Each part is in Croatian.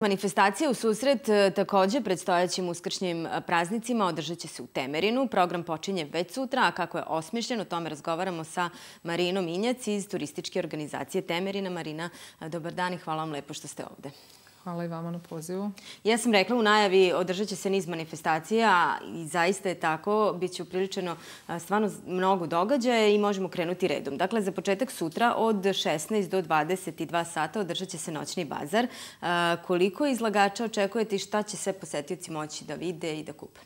Manifestacija u susret takođe predstojećim uskršnjim praznicima održat će se u Temerinu. Program počinje već sutra, a kako je osmišljen, o tome razgovaramo sa Marinom Injac iz turističke organizacije Temerina. Marina, dobar dan i hvala vam lepo što ste ovde. Hvala i vama na pozivu. Ja sam rekla u najavi, održat će se niz manifestacija i zaista je tako. Biće upriličeno stvarno mnogo događaja i možemo krenuti redom. Dakle, za početak sutra od 16 do 22 sata održat će se noćni bazar. Koliko izlagača očekujete i šta će sve posetioci moći da vide i da kupe?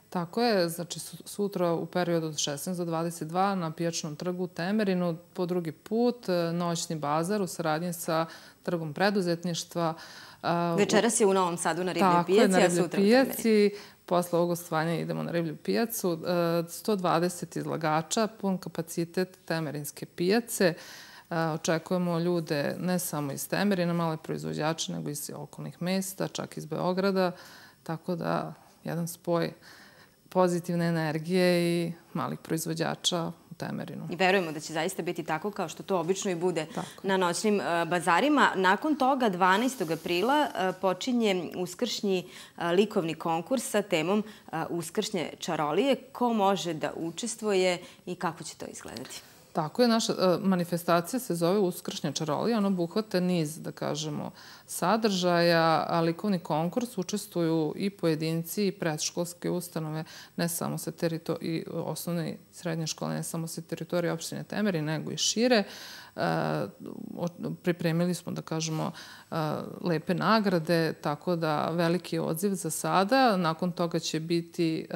Tako je, znači sutra u periodu od 16 do 22 na Pijačnom trgu u Temerinu po drugi put noćni bazar u saradnji sa Trgom preduzetništva. Večeras je u Novom Sadu na Ribljoj pijaci, a sutra u Temerinu. Posle ovog gostovanja idemo na Riblju pijacu. 120 izlagača, pun kapacitet Temerinske pijace. Očekujemo ljude ne samo iz Temerina, male proizvođače, nego iz okolnih mesta, čak iz Beograda. Tako da jedan spoj pozitivne energije i malih proizvođača u Temerinu. I verujemo da će zaista biti tako kao što to obično i bude na noćnim bazarima. Nakon toga, 12. aprila, počinje uskršnji likovni konkurs sa temom Uskršnje čarolije. Ko može da učestvuje i kako će to izgledati? Tako je, naša manifestacija se zove Uskršnja čarolija. Ona obuhvata niz, da kažemo, sadržaja, a likovni konkurs učestvuju i pojedinci i predškolske ustanove, ne samo sa i osnovne i srednje škole, ne samo sa teritorije opštine Temerin, nego i šire. Pripremili smo, da kažemo, lepe nagrade, tako da veliki odziv za sada. Nakon toga će biti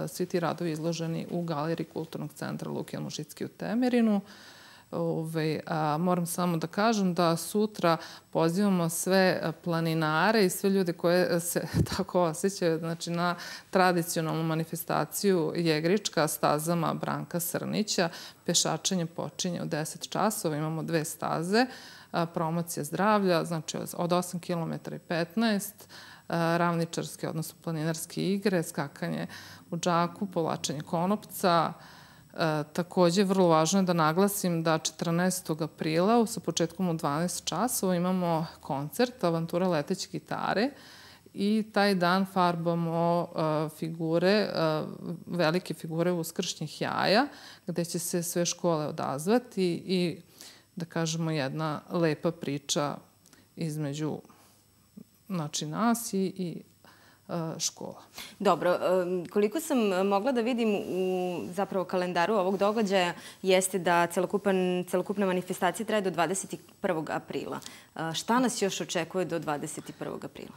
svi ti radovi izloženi u galeriji Kulturnog centra Luke Jelmušicki u Temerinu. Moram samo da kažem da sutra pozivamo sve planinare i sve ljude koje se tako osjećaju na tradicionalnu manifestaciju Jegrička stazama Branka Srnića. Pešačenje počinje u 10 časova, imamo 2 staze, promocija zdravlja, znači od 8 km i 15, ravničarske, odnosno planinarske igre, skakanje u džaku, povlačenje konopca. Takođe, vrlo važno je da naglasim da 14. aprila sa početkom u 12 časova imamo koncert Avantura leteće gitare i taj dan farbamo figure, velike figure uskršnjih jaja, gde će se sve škole odazvati i, da kažemo, jedna lepa priča između nas i škola. Dobro, koliko sam mogla da vidim u zapravo kalendaru ovog događaja jeste da celokupna manifestacija traje do 21. aprila. Šta nas još očekuje do 21. aprila?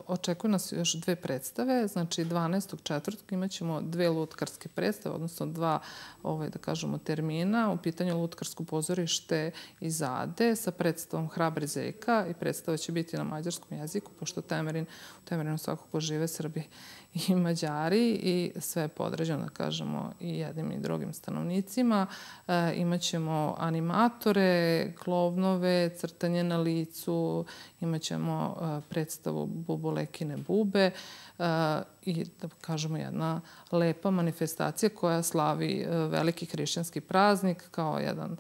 Očekuju nas još 2 predstave. Znači, 12.4. imat ćemo 2 lutkarske predstave, odnosno 2, da kažemo, termina. U pitanju lutkarsko pozorište iz Ade sa predstavom Hrabri zeka i predstava će biti na mađarskom jeziku, pošto u Temerinu svakako žive Srbi i Mađari i sve je podređeno, da kažemo, i jednim i drugim stanovnicima. Imaćemo animatore, klovnove, crtanje na licu, imaćemo predstavu Bubolekine bube i, da kažemo, jedna lepa manifestacija koja slavi veliki hrišćanski praznik kao jedan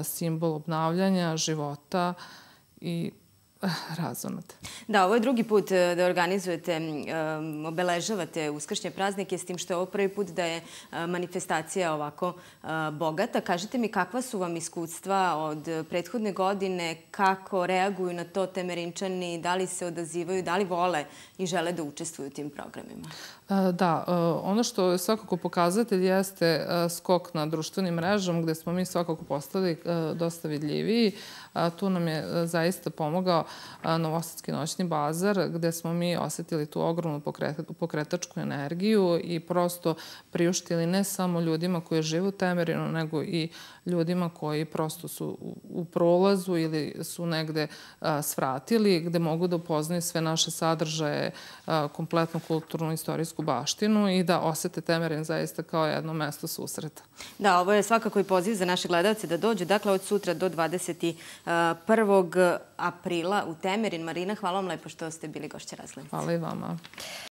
simbol obnavljanja života i razonate. Da, ovo je drugi put da organizujete, obeležavate uskršnje praznike, s tim što je ovo prvi put da je manifestacija ovako bogata. Kažite mi kakva su vam iskustva od prethodne godine, kako reaguju na to Temerinčani, da li se odazivaju, da li vole i žele da učestvuju u tim programima? Da, ono što je svakako pokazatelj jeste skok na društvenim mrežama gde smo mi svakako postali dosta vidljiviji. Tu nam je zaista pomogao Novosadski noćni bazar gde smo mi osetili tu ogromnu pokretačku energiju i prosto priuštili ne samo ljudima koji žive u Temerinu, nego i ljudima koji prosto su u prolazu ili su negde svratili, gde mogu da upoznaju sve naše sadržaje, kompletnu kulturnu, istorijsku baštinu i da osete Temerin zaista kao jedno mesto susreta. Da, ovo je svakako i poziv za naše gledalce da dođu. Dakle, od sutra do 21. aprila u Temerin. Marina, hvala vam lepo što ste bili gošća Razglednice. Hvala i vama.